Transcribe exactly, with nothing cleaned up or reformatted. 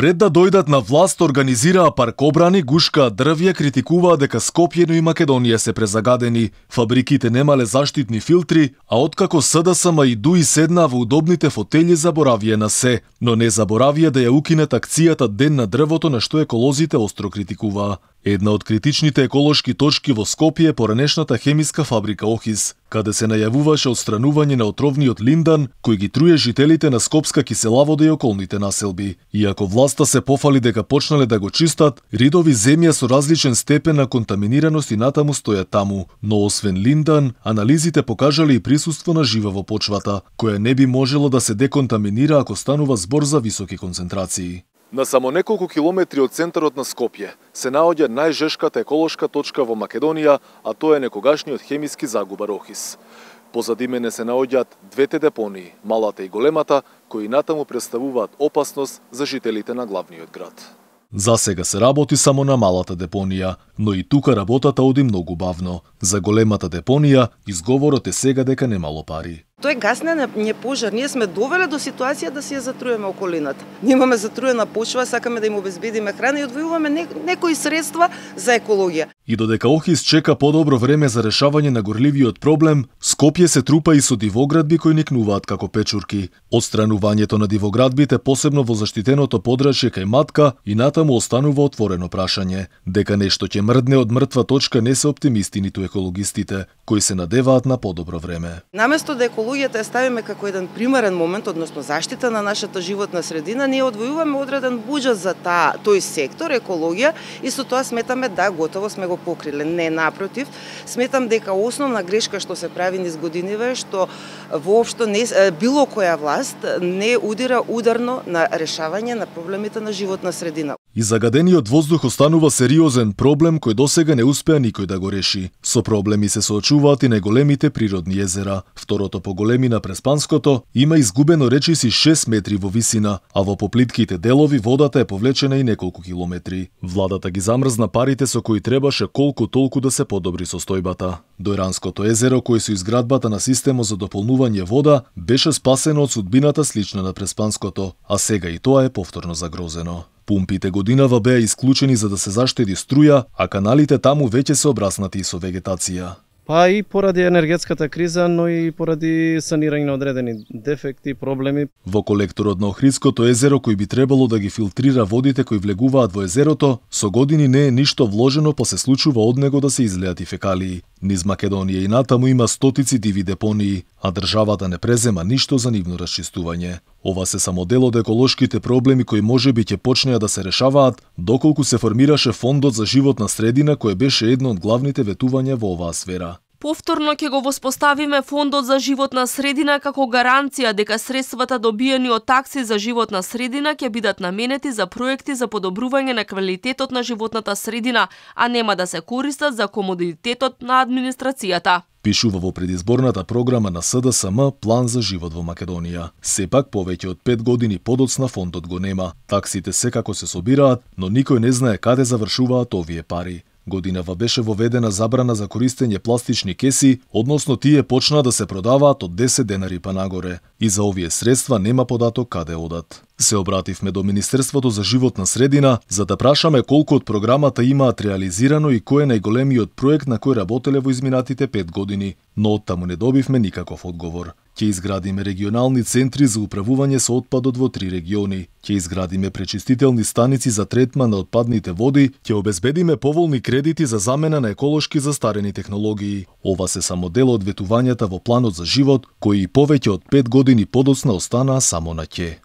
Пред да дојдат на власт, организираа паркобрани, гушкаа дрвја, критикуваа дека Скопје и Македонија се презагадени, фабриките немале заштитни филтри, а откако СДСМ и ДУИ седнаа во удобните фотели, заборавија на се, но не заборавија да ја укинат акцијата Ден на дрвото, на што еколозите остро критикуваа. Една од критичните еколошки точки во Скопје е поранешната хемиска фабрика Охис, каде се најавуваше отстранување на отровниот линдан, кој ги труе жителите на Скопска киселавода и околните населби. Иако власта се пофали дека почнале да го чистат, ридови земја со различен степен на контаминираност и натаму стојат таму, но освен линдан, анализите покажале и присуство на жива во почвата, која не би можело да се деконтаминира ако станува збор за високи концентрации. На само неколку километри од центарот на Скопје се наоѓа најжешката еколошка точка во Македонија, а тоа е некогашниот хемиски загубар Охис. Позади мене се наоѓаат двете депонии, малата и големата, кои натаму представуваат опасност за жителите на главниот град. За сега се работи само на малата депонија, но и тука работата оди многу бавно. За големата депонија изговорот е сега дека немало пари. Тој гасне не пожар, ние сме довеле до ситуација да си ја затруеме околината. Ние имаме затруена почва, сакаме да им обезбедиме храна и одвојуваме не, некои средства за екологија. И додека Охис чека подобро време за решавање на горливиот проблем, Скопје се трупа и со дивоградби кои никнуваат како печурки. Отстранувањето на дивоградбите, посебно во заштитеното подрачје кај Матка, и натаму останува отворено прашање. Дека нешто ќе мрдне од мртва точка не се оптимисти ниту екологистите, кои се надеваат на подобро време. Наместо да екологијата ја ставиме како еден примерен момент, односно заштита на нашата животна средина, ние одвојуваме одреден буџет за таа, тој сектор, екологија, и со тоа сметаме да готово сме го покриле. Не, напротив, сметам дека основна грешка што се прави низ годиниве, што воопшто не, било која власт не удира ударно на решавање на проблемите на животна средина. И загадениот воздух останува сериозен проблем кој досега не успеа никој да го реши. Со проблеми се соочуваат и најголемите природни езера. Второто по големина Преспанското има изгубено речиси шест метри во висина, а во поплитките делови водата е повлечена и неколку километри. Владата ги замрзна парите со кои требаше колку толку да се подобри состојбата. Дојранското езеро, кој со изградбата на системот за дополнување вода, беше спасено од судбината слична на Преспанското, а сега и тоа е повторно загрозено. Пумпите годинава беа исклучени за да се заштеди струја, а каналите таму веќе се обраснати со вегетација. Па и поради енергетската криза, но и поради санирање на одредени дефекти, проблеми. Во колекторот на Охридското езеро, кој би требало да ги филтрира водите кои влегуваат во езерото, со години не е ништо вложено, па се случува од него да се излеат и фекалии. Низ Македонија и натаму има стотици диви депонии, а државата не презема ништо за нивно расчистување. Ова се само дел од еколошките проблеми кои можеби ќе почнеа да се решаваат доколку се формираше Фондот за животна средина, кој беше едно од главните ветувања во оваа сфера. Повторно ќе го воспоставиме Фондот за животна средина како гаранција дека средствата добиени од такси за животна средина ќе бидат наменети за проекти за подобрување на квалитетот на животната средина, а нема да се користат за комодитетот на администрацијата. Пишува во предизборната програма на СДСМ План за живот во Македонија. Сепак повеќе од пет години подоцна фондот го нема. Таксите секако се собираат, но никој не знае каде завршуваат овие пари. Годинава беше воведена забрана за користење пластични кеси, односно тие почнаа да се продаваат од десет денари па нагоре. И за овие средства нема податок каде одат. Се обративме до Министерството за животна средина за да прашаме колку од програмата имаат реализирано и кој е најголемиот проект на кој работеле во изминатите пет години, но оттаму не добивме никаков одговор. Ќе изградиме регионални центри за управување со отпадот во три региони. Ќе изградиме пречистителни станици за третман на отпадните води, ќе обезбедиме поволни кредити за замена на еколошки застарени технологии. Ова се само дел од ветувањата во планот за живот, кои и повеќе од пет години подоцна останаа само на ќе.